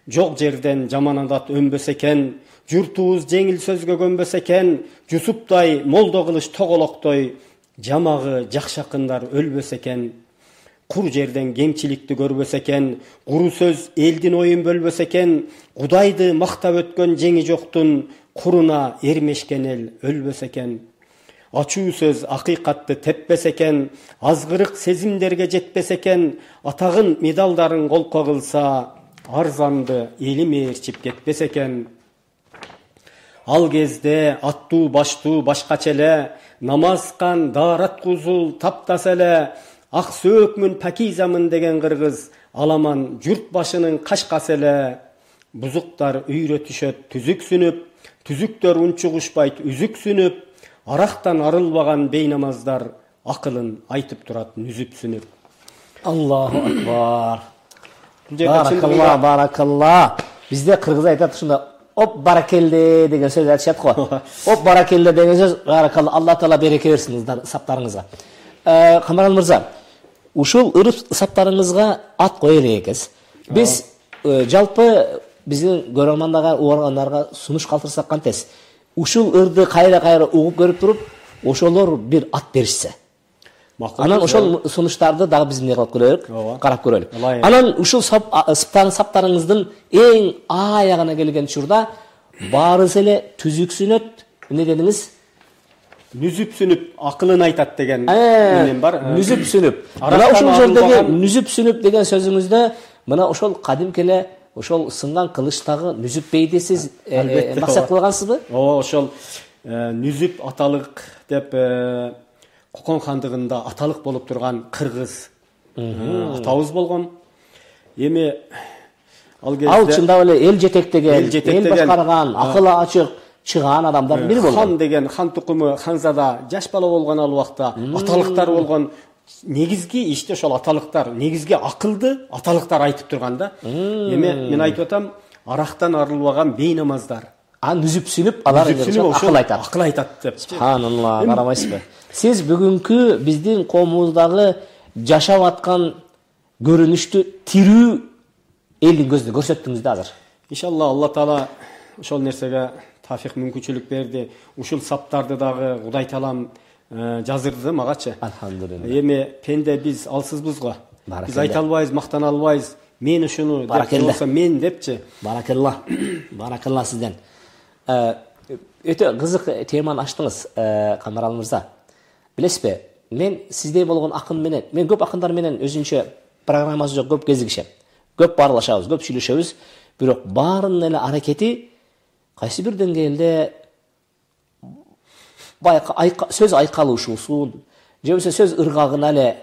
жок жерден жаман адат өнбөс экен, журтубуз жеңил сөзгө көнбөс экен, Жусуптай молдо кылыч тоголоктой, жамагы жакшы акындар өлбөс экен, кур жерден кемчиликти көрбөс экен, куру сөз элдин оюн бөлбөс экен, Кудайды мактап өткөн жеңи жоктун, куруна эрмешкен эл өлбөс экен. Ачуу сөз акыйкатты теппес экен, азгырык сезимдерге жетпес экен, атагын медалдарын колко кылса, арзанды эли мээрчип кетпес экен. Ал кезде аттуу баштуу башкача эле, намазкан даарат кузул таптаса эле, ак сөөкмүн пакизамын деген кыргыз, аламан журт башынын кашкасы эле. Бузуктар үйрө түшөт түзүксүнүп, түзүктөр унчугушпайт үзүксүнүп, арактан арылбаган бейнамаздар акылын айтып турат нүзүпсүнүп. Аллаху акбар. Баракалла, баракалла. Бизде кыргыз айтат ушунда оп баракелде деген сөз айтышат го. Оп баракелде деген сөз баракалла, Алла таала береке берсин саптарыңызга. Камарал мырза, ушул ырып саптарыңызга ат кое элекпиз. Биз жалпы биздин көрөрмандарға, угаргандарга сунуш калтырсак кантес? Ушул ырды кайра-кайра угуп көрүп туруп, ошолор бир ат беришсе. Анан ошол сунуштарды дагы биз эмне кылып көрөлүк, карап көрөлүк. Анан ушул саптарыңыздын эң аягына келген учурда баарысы эле түзүксүнөт, эмне дедиңиз? Нүзүпсүнүп, акылын айтат деген менен бар. Нүзүпсүнүп. Мына ушул жердеги нүзүпсүнүп деген сөзүңүздө мына ошол кадимки эле ошол сынган кылычтагы нүзүп бейди сиз максат кылгансызбы? Ооба, ошол нүзүп аталык деп Кокон хандыгында аталык болуп турган кыргыз атабыз болгон. Эми ал кезде ал чындап эле эл жетектеген, эл башкарган, акылы ачык чыгаан адамдардын бири болгон. Хан деген хан тукуму, ханзада жаш бала болгон ал убакта аталыктар болгон. Негизги иште ошол аталыктар, негизги акылды аталыктар айтып турган да. Эми мен айтып атам, арактан арылбаган бейнамаздар. А нүзүпсүнүп, алар акыл айтат. Акыл айтат деп. Субханалла, карабайсызбы? Сиз бүгүнкү биздин коомубуздагы жашап аткан көрүнүштү тирүү элдин көзүнө көрсөттүңүз да азыр. Иншалла Алла таала ошол нерсеге тафик мүмкүнчүлүк берди. Ушул саптарды дагы Кудай таалам жаздырды магачы. Алхамдулилла. Эми пенде биз алсызбыз го. Биз айта албайбыз, мактана албайбыз. Мен ушуну деп болсо мен депчи. Баракалла. Баракалла сизден. Өтө кызык теманы ачтыңыз, Камарал мырза. Билесизби, мен сиздей болгон акын менен, мен көп акындар менен өзүнчө программасы жок көп кезигишем. Көп баарлашабыз, көп сүйлөшөбүз, бирок баарынын эле аракети кайсы бир деңгээлде сөз айкалышуусун, же болбосо сөз ыргагына эле,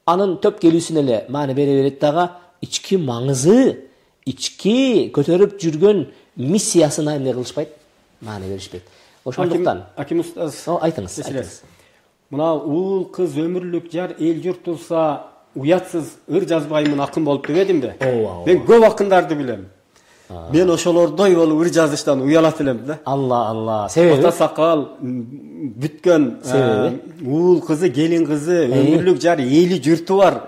анын төп келүүсүнө эле маани бере берет дагы, ички маңызы, ички көтөрүп жүргөн миссиясына эмне кылышпайт, маани беришпейт. Ошондуктан Аким устаз, айтыңыз, айтыңыз. Мына уул кыз өмүрлүк жар эл журт турса, уятсыз ыр жазбаймын акын болуп дебедимби? Мен көп акындарды билем. Мен ошолордой болуп ыр жазыштан уялат элем да. Алла, Алла. Себеби? Ата сакал бүткөн уул кызы, келин кызы, өмүрлүк жар эли журту бар.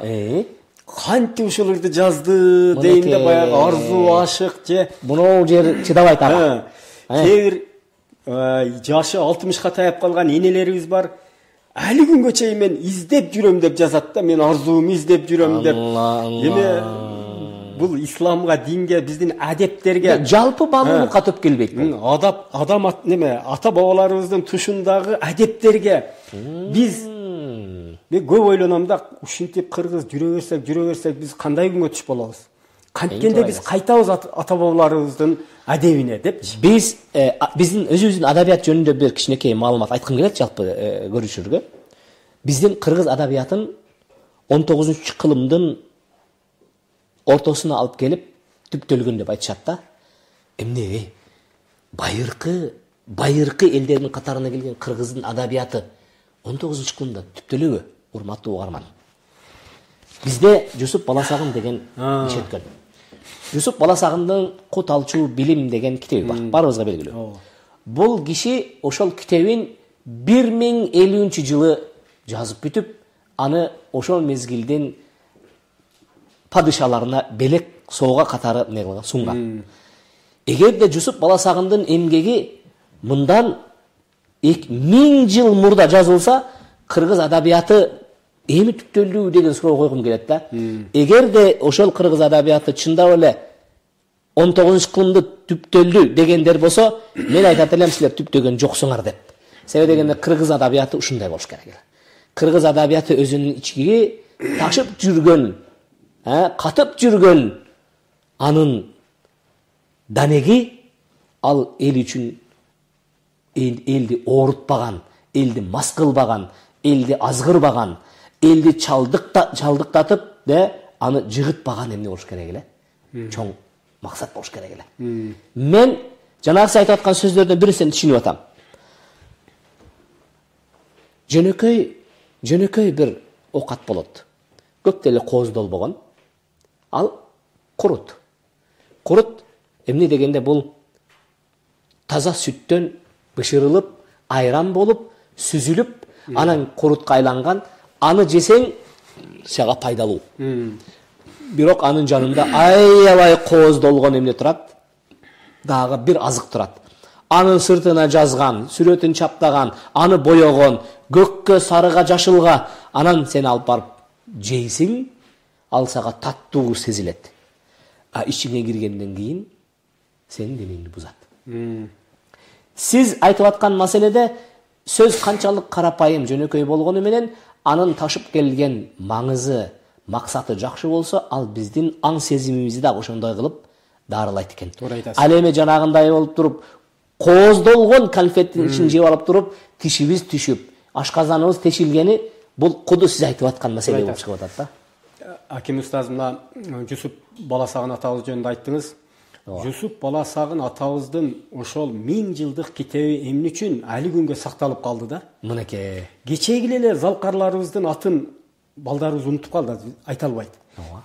Кантип ушул ырды жазды дейм да, баягы арзу, ашык же мынау жер чыдабайт ага. Кээ бир жашы алтымышка таяп калган энелерибиз бар. Али күнгө чейин мен издеп жүрөм деп жазат да, мен арзуумду издеп жүрөм деп. Эми бул исламга, динге, биздин адептерге жалпы баалуулукка төп келбейт. Адап, адам неме, ата бабаларыбыздын тушундагы адептерге биз мен көп ойлоном да, ушинтип кыргыз жүрө берсек, жүрө берсек биз кандай күнгө түшүп болобуз? Канткенде биз кайтабыз ата бабаларыбыздын адебине депчи. Биз биздин өзүбүздүн адабият жөнүндө бир кичинекей маалымат айткым келет жалпы көрүүчүлөргө. Биздин кыргыз адабиятын он тогузунчу кылымдын ортосуна алып келип түптөлгөн деп айтышат да. Эмне? Байыркы, байыркы элдердин катарына келген кыргыздын адабияты он тогузунчу кылымда түптөлөбү, урматтуу угарман? Бизде Жусуп Баласагын деген киши өткөн. Жусуп Баласагындын Кут алчу билим деген китеби бар. Барыбызга белгилүү. Бул киши ошол китебин бир миң элүүнчү жылы жазып бүтүп, аны ошол мезгилдин падышаларына белек соого катары эмне кылган, сунган. Эгерде Жусуп Баласагындын эмгеги мындан миң жыл мурда жазылса, кыргыз адабияты эми түптөлдү деген суроо койгум келет да. Эгерде ошол кыргыз адабияты чындап эле он тогузунчу кылымды түптөлдү дегендер болсо, мен айтат элем силер түптөгөн жоксуңар деп. Себеби дегенде кыргыз адабияты ушундай болуш керек. Кыргыз адабияты өзүнүн ичиги ташып жүргөн, катып жүргөн анын данеги ал эл үчүн элди оорутпаган, элди мас кылбаган, элди азгырбаган, элди чалдыктатып да аны жыгытпаган эмне болуш керек эле? Чоң максат болуш керек эле. Мен жанагы сиз айтып аткан сөздөрдөн бирисин түшүнүп атам. Жөнөкөй, жөнөкөй бир окат болот. Көп деле кооздол болгон. Ал курут. Курут эмне дегенде бул таза сүттөн бышырылып, айран болуп, сүзүлүп, анан курутка айланган, аны жесең сага пайдалуу. Бирок анын жанында аябай кооздолгон эмне турат? Дагы бир азык турат. Анын сыртына жазган, сүрөтүн чаптаган, аны боёгон, көккө, сарыга, жашылга, анан сен алып барып жейсиң, ал сага таттуу сезилет. А ичиңе киргенден кийин сенин денеңди бузат. Сиз айтып аткан маселеде сөз канчалык карапайым, жөнөкөй болгону менен анын ташып келген маңызы, максаты жакшы болсо, ал биздин аң сезимибизди да ошондой кылып дарылайт экен. Ал эми жанагындай болуп туруп, кооздолгон конфеттин ичин жеп алып туруп, тишибиз түшүп, ашказаныбыз тешилгени, бул куду сиз айтып аткан маселе болуп чыгып атат да. Аким устаз, мына Жусуп Баласагын атабыз жөнүндө айттыңыз. Жусуп Баласагын атабыздын ошол миң жылдык китеби эмне үчүн али күнгө сакталып калды да? Мынакей. Кечеги эле залкарларыбыздын атын балдарыбыз унутуп калды, айта албайт.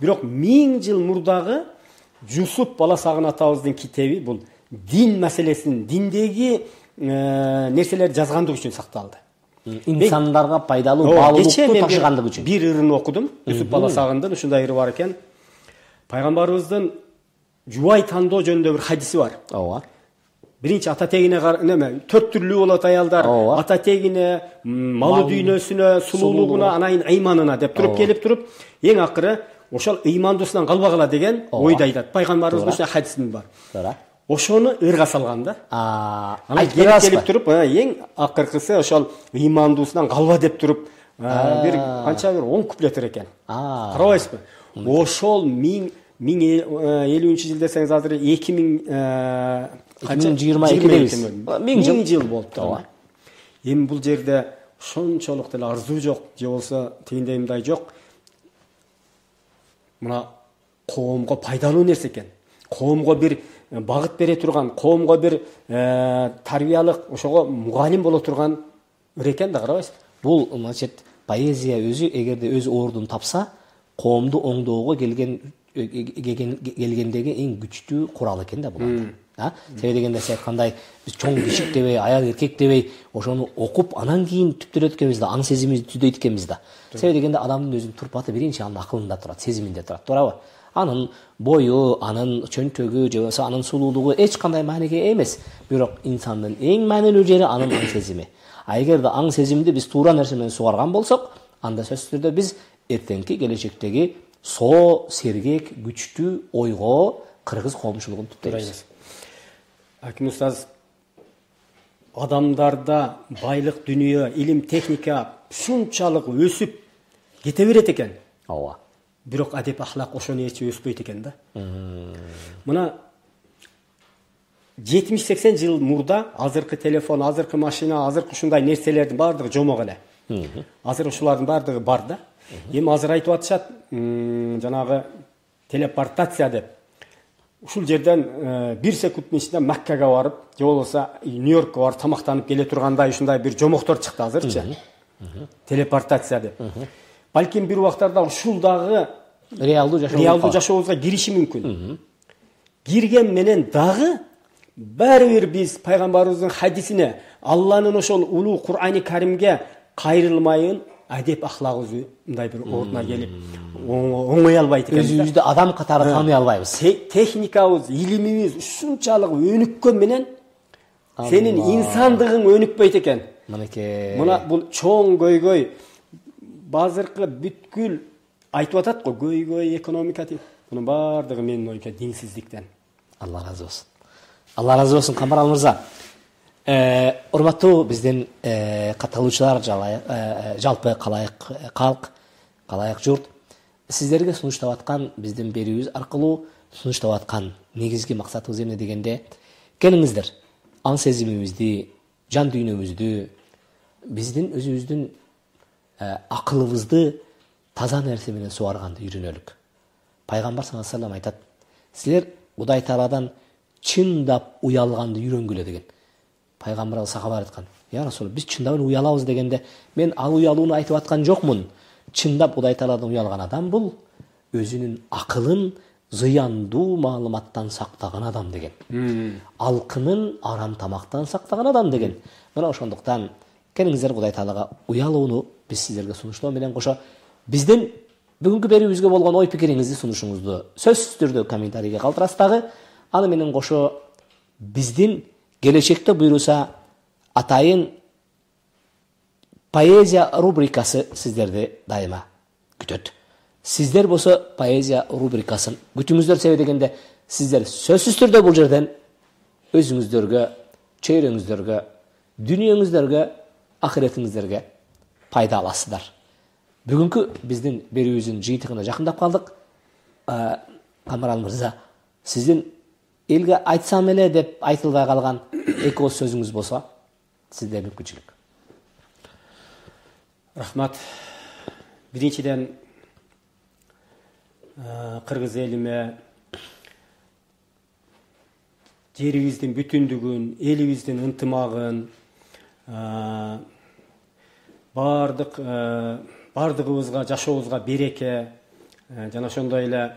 Бирок миң жыл мурдагы Жусуп Баласагын атабыздын китеби бул дин маселесин, диндеги нерселерди жазгандык үчүн сакталды. Инсандарга пайдалуу, баалуулукту ташыгандык үчүн. Бир ырын окудум. Жусуп Баласагындын ушундай ыры бар экен. Пайгамбарыбыздын жубай тандоо жөнүндө бир хадиси бар. Ооба. Биринчи ата тегине неме, төрт түрлүү болот аялдар. Ата тегине, малы дүйнөсүнө, сулуулугуна, анан ыйманына деп туруп келип туруп, эң акыры ошол ыймандуусунан калбагыла деген ойду айтат. Пайгамбарыбыздын ушундай хадисин бар. Туура. Ошону ырга салган да. Анан келип туруп, эң акыркысы ошол ыймандуусунан калба деп туруп, бир канча бир он куплет экен. Карабайсызбы? Ошол миң элүүнчү жыл десеңиз азыр эки миң жыйырма экидебиз. Миң жыл болуптур. Эми бул жерде ошончолук деле арзуу жок, же болсо тигиндей мындай жок. Мына коомго пайдалуу нерсе экен. Коомго бир багыт бере турган, коомго бир тарбиялык, ошого мугалим боло турган экен да, карабайсызбы? Бул значит поэзия өзү эгерде өз ордун тапса, коомду оңдоого келген келгендеги эң күчтүү курал экен да бул. А? Себеби дегенде сиз айткандай биз чоң кичик дебей, аял эркек дебей, ошону окуп, анан кийин түптөлөт экенбиз да, аң сезимибизди түздөйт экенбиз да. Себеби дегенде адамдын өзүнүн турпаты биринчи анын акылында турат, сезиминде турат, туурабы? Анын бою, анын чөнтөгү, же болбосо анын сулуулугу эч кандай мааниге эмес. Бирок инсандын эң маанилүү жери анын аң сезими. А эгерде аң сезимди биз туура нерсе менен сугарган болсок, анда сөзсүз түрдө биз эртеңки келечектеги соо, сергек, күчтүү ойго кыргыз коомчулугун түптөйбүз. Аким устаз, адамдарда байлык, дүнүйө, илим, техника шунчалык өсүп кете берет экен. Ооба. Бирок адеп ахлак ошону эч өспөйт экен да. Мына жетимиш сексен жыл мурда азыркы телефон, азыркы машина, азыркы ушундай нерселердин баардыгы жомок эле. Азыр ушулардын баардыгы бар да. Эми азыр айтып атышат, жанагы телепортация деп. Ушул жерден бир секундтун ичинде Маккага барып, же болбосо Нью-Йоркко барып тамактанып келе тургандай ушундай бир жомоктор чыкты азырчы. Телепортация деп. балким бир убактарда ушул дагы реалдуу жашоо реалдуу жашообузга кириши мүмкүн. Кирген менен дагы баары бир биз пайгамбарыбыздын хадисине, Алланын ошол улуу Кур'ани Каримге кайрылмайын адеп ахлагыбыз мындай бир ордуна келип оңой албайт экенбиз. Өзүбүздү адам катары тааный албайбыз. Техникабыз, илимибиз ушунчалык өнүккөн менен сенин инсандыгың өнүкпөйт экен. Мынакей. Мына бул чоң көйгөй базыркы бүткүл айтып атат го, көйгөй экономика дейт. Мунун баардыгы менин оюмча динсиздиктен. Алла разы болсун. Алла разы болсун Камарал мырза. Э, урматтуу биздин э, катталуучулар, э, жалпы калайык калк, калайык журт, сиздерге сунуштап аткан биздин берүүбүз аркылуу сунуштап аткан негизги максатыбыз эмне дегенде, келиңиздер аң сезимибизди, жан дүйнөбүздү, биздин өзүбүздүн э, акылыбызды таза нерсе менен суарганды үйрөнөлүк. Пайгамбар саллаллаху алейхи ва саллям айтат: силер Кудай Тааладан чындап уялганды үйрөнгүлө деген. Пайгамбар сахабалар айткан: "Я Расул, биз чындап уялабыз" дегенде, мен ал уялууну айтып аткан жокмун. Чындап Кудай Тааладан уялган адам бул өзүнүн акылын зыяндуу маалыматтан сактаган адам деген. Алкынын арам тамактан сактаган адам деген. Мына ошондуктан келиңиздер Кудай Таалага уялууну биз сиздерге сунуштоо менен кошо биздин бүгүнкү берүүбүзгө болгон ой пикириңизди сунушуңузду сөзсүз түрдө комментарийге калтырасыз дагы. Аны менен кошо биздин келечекте буйруса атайын поэзия рубрикасы сиздерди дайыма күтөт. Сиздер болсо поэзия рубрикасын күтүңүздөр, себеби дегенде сиздер сөзсүз түрдө бул жерден өзүңүздөргө, чөйрөңүздөргө, дүнүйөңүздөргө, ахиретиңиздерге пайда аласыздар. Бүгүнкү биздин берүүбүздүн жыйынтыгына жакындап калдык. Камарал мырза, сиздин элге айтсам эле деп айтылбай калган эки ооз сөзүңүз болсо, сизде мүмкүнчүлүк. Рахмат. Биринчиден кыргыз элиме жерибиздин бүтүндүгүн, элибиздин ынтымагын, бардык бардыгыбызга, жашообузга береке, жана ошондой эле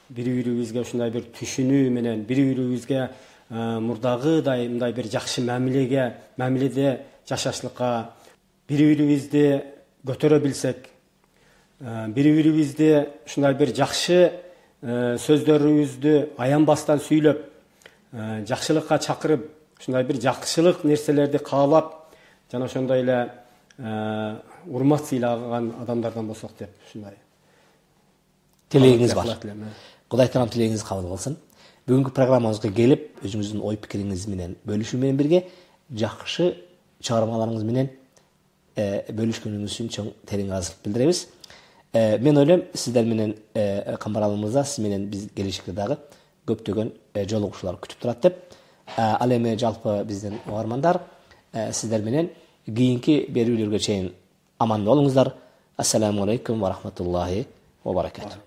бири-бирибизге ушундай бир түшүнүү менен, бири-бирибизге мурдагыдай мындай бир жакшы мамилеге, мамиледе жашашлыкка, бири-бирибизди көтөрө билсек, бири-бирибизди ушундай бир жакшы сөздөрүбүздү аянбастан сүйлөп, жакшылыкка чакырып, ушундай бир жакшылык нерселерди каалап, жана ошондой эле урмат сыйлаган адамдардан болсок деп ушундай тилегиңиз бар. Кудай Таалам тилегиңизди кабыл кылсын. Бүгүнкү программабызга келип, өзүңүздүн ой пикириңиз менен бөлүшүү менен бирге жакшы чыгармаларыңыз менен бөлүшкөнүңүз үчүн чоң терең ыраазычылык билдиребиз. Мен ойлойм, сиздер менен Камарал мырза, сиз менен биз келечекте дагы көптөгөн жолугушуулар күтүп турат деп. Ал эми жалпы биздин угармандар, сиздер менен кийинки берүүлөргө чейин аман болуңуздар. Ассаламу алейкум ва рахматуллахи ва баракатух.